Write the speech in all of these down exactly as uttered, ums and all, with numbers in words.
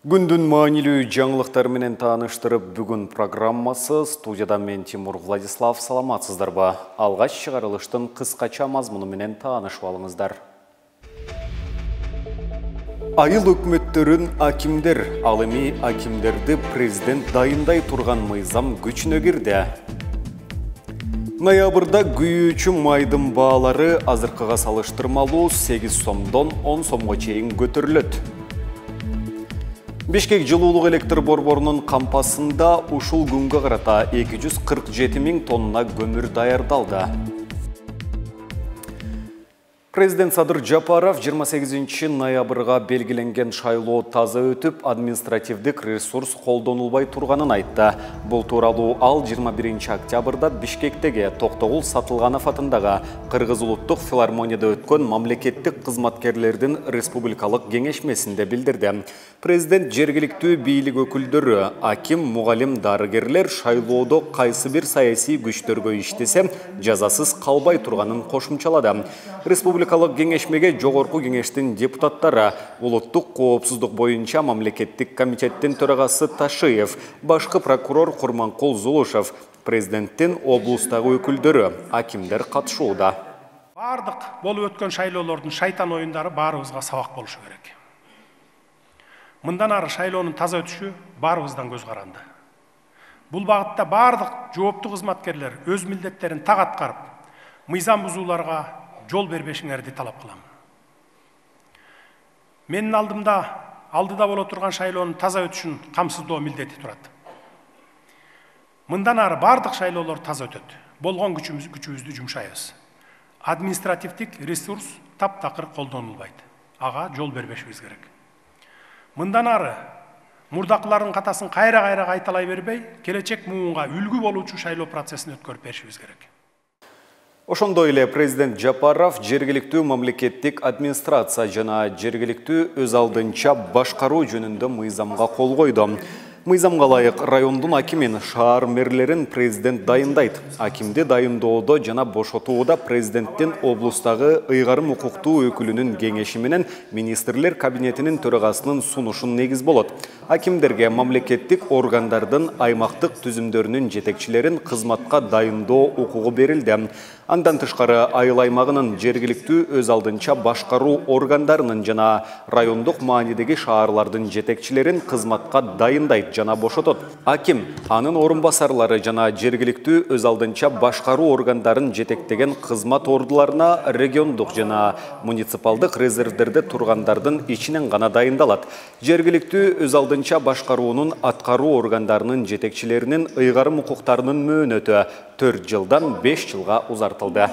Күндүн маанилүү жаңылыктар менен тааныштырып, бүгүн программасы студияда мен Тимур Владислав. Саламатсыздарбы? Алгач чыгарылыштын кыскача мазмуну менен таанышып алыңыздар. Айыл өкмөттөрүн акимдер, ал эми акимдерди президент дайындай турган мыйзам күчүнө кирди. Ноябрда күйүүчү майдын баалары азыркыга салыштырмалуу сегиз сомдон он сомго чейин көтөрүлөт. Бишкек жылуулук электр борборунун кампасында ушул күнгө карата эки жүз кырк жети миң тонна көмүр даярдалды. Президент Садыр Жапаров жыйырма сегизинчи ноябрга белгиленген шайлоо таза өтүп, административдик ресурс колдонулбай турганын айтты. Бул тууралуу ал жыйырма биринчи октябрда Бишкектеги Токтогул Сатылганов атындагы Кыргыз улуттук филармонияда өткөн мамлекеттик кызматкерлердин республикалык кеңешмесинде билдирди. Президент жергиликтүү бийлик өкүлдөрү, аким, мугалим, дарыгерлер шайлоодо кайсы бир саясий күчтөргө иштесе, жазасыз калбай турганын кошумчалады. Республикалык кеңешмеге жогорку кеңештин депутаттары, улуттук коопсуздук боюнча мамлекеттик комитеттин төрагасы Ташиев, башкы прокурор Курманкул Зулушев, президенттин облустагы өкүлдөрү, акимдер катышууда. Бардык болуп өткөн шайлоолордун шайтан оюндары баарыбызга сабак болушу керек. Мындан ары шайлоонун таза өтүшү баарыбыздан көз каранды. Бул багытта бардык жооптуу кызматкерлер өз милдеттерин так аткарып, мыйзам бузууларга жол бербешиңерди талап кылам. Менин алдымда алдыда боло турган шайлоонун таза өтүшүн камсыздоо милдети турат. Мындан ары бардык шайлоолор таза өтөт. Болгон күчүбүз күчүбүздү жумшайбыз. Административдик ресурс таптакыр колдонулбайт. Ага жол бербешибиз керек. Мындан ары мурдакылардын катасын кайра-кайра кайталай бербей, келечек муунга үлгү болуучу шайлоо процессин өткөрүп беришибиз керек. Ошондой эле президент Жапаров жергиликтүү мамлекеттик администрация жана жергиликтүү өз алдынча башкаруу жөнүндө мыйзамга кол койду. Мыйзамга ылайык райондун акимин, шаар мэрлерин президент дайындайт. Акимди дайындоодо жана бошотууда президенттин облустагы ыйгарым укуктуу өкүлүнүн кеңеши менен министрлер кабинетинин төрагасынын сунушун негиз болот. Акимдерге мамлекеттик органдардын аймактык түзүмдөрүнүн жетекчилерин кызматка дайындоо укугу берилди. Андан тышкары айыл аймагынын жергиликтүү өз алдынча башкаруу органдарынын жана райондук маанидеги шаарлардын жетекчилерин кызматка дайындайт жана бошотот. Аким, анын орун басарлары жана жергиликтүү өз алдынча башкаруу органдарын жетектеген кызмат ордуларына региондук жана муниципалдык резервдерде тургандардын ичинен гана дайындалат. Жергиликтүү өз алдынча башкаруунун аткаруу органдарынын жетекчилеринин ыйгарым укуктарынын мөөнөтү төрт жылдан беш жылга узартылды.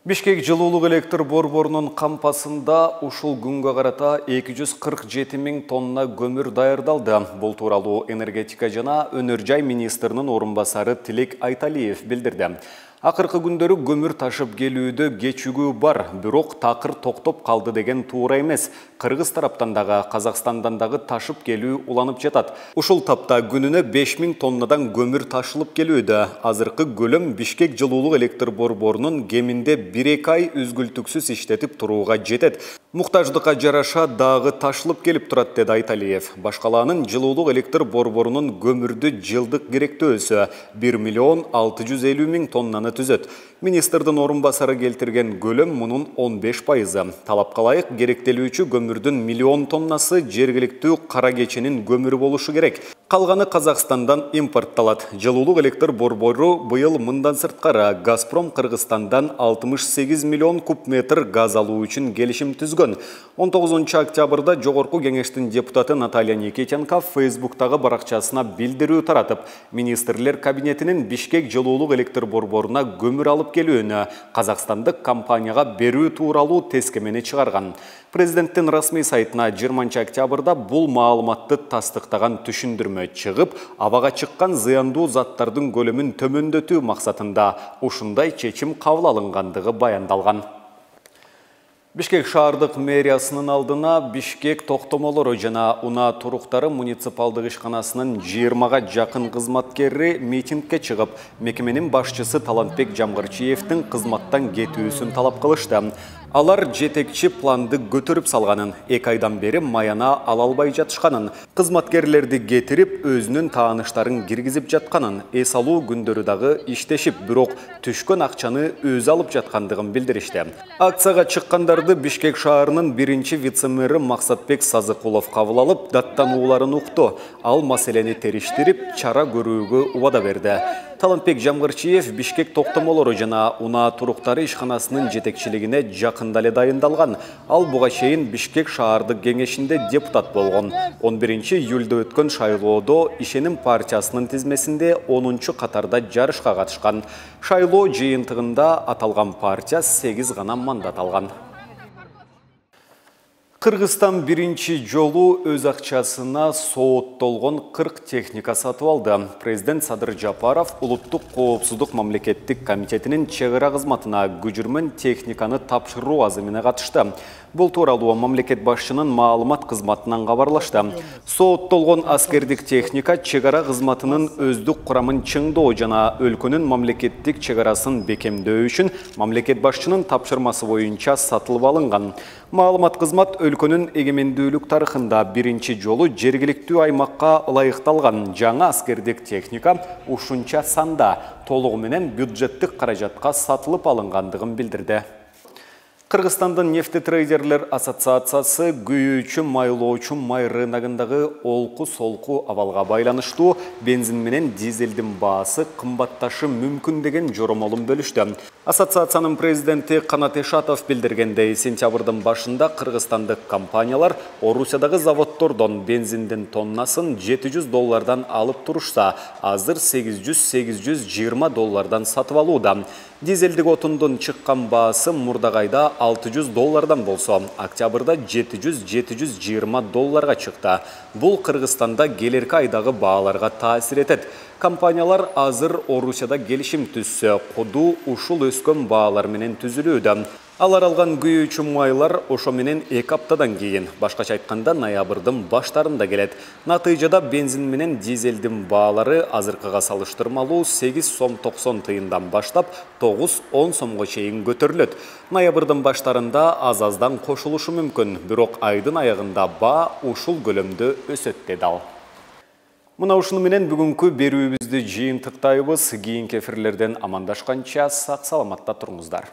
Бишкек жылуулук электр борборунун кампасында ушул күнгө карата эки жүз кырк жети миң тонна көмүр даярдалды. Бул тууралуу энергетика жана өнөр жай министринин орун басары Тилек Айталиев билдирди. Акыркы күндөрү көмүр ташып келүүдө кечигүү бар, бирок такыр токтоп калды деген туура эмес. Кыргыз тараптан дагы, Казакстандан дагы ташып келүү уланып жатат. Ушул тапта күнүнө беш миң тоннадан көмүр ташылып келүүдө. Азыркы көлөм Бишкек жылуулук электр борборунун кеминде бир эки ай үзгүлтүксүз иштетип турууга жетет. Муктаждыкка жараша дагы ташылып келип турат, деди Айталиев. Башкалаанын жылуулук электр борборунун көмүрдү жылдык керектөөсү бир миллион алты жүз элүү миң тоннаны түзөт. Министрдин орун басары келтирген көлөм мунун он беш пайызы. Талапка ылайык керектелүүчү көмүрдүн миллион тоннасы жергиликтүү кара кеченин көмүрү болушу керек. Калганы Казакстандан импортталат. Жылуулук электр борбору быйыл мындан сырткары Газпром Кыргызстандан алтымыш сегиз миллион куб метр газ алуу үчүн келишим түзгөн. он тогузунчу октябрда жогорку кеңештин депутаты Наталья Никитенко Фейсбуктагы баракчасына билдирүү таратып, министрлер кабинетинин Бишкек жылуулук электр борборуна көмүр алып келүүнү казакстандык компанияга берүү тууралуу тескемени чыгарган. Президенттин расмий сайтына жыйырманчы октябрда бул маалыматты тастыктаган түшүндүрмө чыгып, абага чыккан зыяндуу заттардын көлөмүн төмөндөтүү максатында ушундай чечим кабыл алынгандыгы баяндалган. Бишкек шаардык мэриясынын алдына Бишкек токтомолору жана унаа туруктары муниципалдык ишканасынын жыйырмага жакын кызматкери митингге чыгып, мекеменин башчысы Талантбек Жамгырчиевдин кызматтан кетүүсүн талап кылышты. Алар жетекчи планды көтөрүп салганын, эки айдан бери маяна ала албай жатышканын, кызматкерлерди кетирип, өзүнүн тааныштарын киргизип жатканын, эс алуу күндөрү дагы иштешип, бирок түшкөн акчаны өзү алып жаткандыгын билдиришти. Акцияга чыккандарды Бишкек шаарынын биринчи вице-мэри Максатбек Сазыкулов кабыл алып, даттанууларын укту. Ал маселени териштирип, чара көрүүгө убада берди. Талантбек Жамгырчиев Бишкек токтомолору жана унаа туруктары ишканасынын жетекчилигине жакында эле дайындалган. Ал буга чейин Бишкек шаардык кеңешинде депутат болгон. он биринчи июлда өткөн шайлоодо Ишеним партиясынын тизмесинде онунчу катарда жарышка катышкан. Шайлоо жыйынтыгында аталган партия сегиз гана мандат алган. Кыргызстан биринчи жолу өз акчасына сооттолгон кырк техника сатып алды. Президент Садыр Жапаров Улуттук коопсуздук мамлекеттик комитетинин чек ара кызматына күжүрмөн техниканы тапшыруу азымына катышты. Бул тууралуу мамлекет башчынын маалымат кызматынан кабарлашты. Сооттолгон аскердик техника чек ара кызматынын өздүк курамын чыңдоо жана өлкөнүн мамлекеттик чек арасын бекемдөө үчүн мамлекет башчынын тапшырмасы боюнча сатылып алынган. Маалымат кызмат өлкөнүн эгемендүүлүк тарыхында биринчи жолу жергиликтүү аймакка ылайыкталган жаңы аскердик техника ушунча санда толугу менен бюджеттик каражатка сатылып алынгандыгын билдирди. Кыргызстандын нефтетрейдерлер ассоциациясы күйүүчү майлоочу май рыногундагы олку-солку абалга байланыштуу бензин менен дизелдин баасы кымбатташы мүмкүн деген жоромолун бөлүштү. Ассоциациянын президенти Канат Эшатов билдиргендей, сентябрдын башында кыргызстандык компаниялар Орусиядагы заводдордон бензиндин тоннасын жети жүз доллардан алып турушса, азыр сегиз жүз — сегиз жүз жыйырма доллардан сатып алууда. Дизелдик отундун чыккан баасы мурдагайда алты жүз доллардан болсо, октябрда жети жүз — жети жүз жыйырма долларга чыкты. Бул Кыргызстанда келерки айдагы бааларга таасир этет. Компаниялар азыр Орусияда келишим түзсө, куду ушул өскөн баалар менен түзүлүүдө. Алар алган күйүүчү майлар ошо менен эки аптадан кийин, башкача айтканда ноябрдын баштарында келет. Натыйжада бензин менен дизелдин баалары азыркыга салыштырмалуу сегиз сом токсон тыйындан баштап тогуз — он сомго чейин көтөрүлөт. Ноябрдын баштарында аз-аздан кошулушу мүмкүн, бирок айдын аягында баа ушул көлөмдө өсөт деди ал. Мына ушуну менен бүгүнкү берүүбүздү жыйынтыктайбыз. Кийинки эфирлерден амандашканча сак саламатта туруңуздар.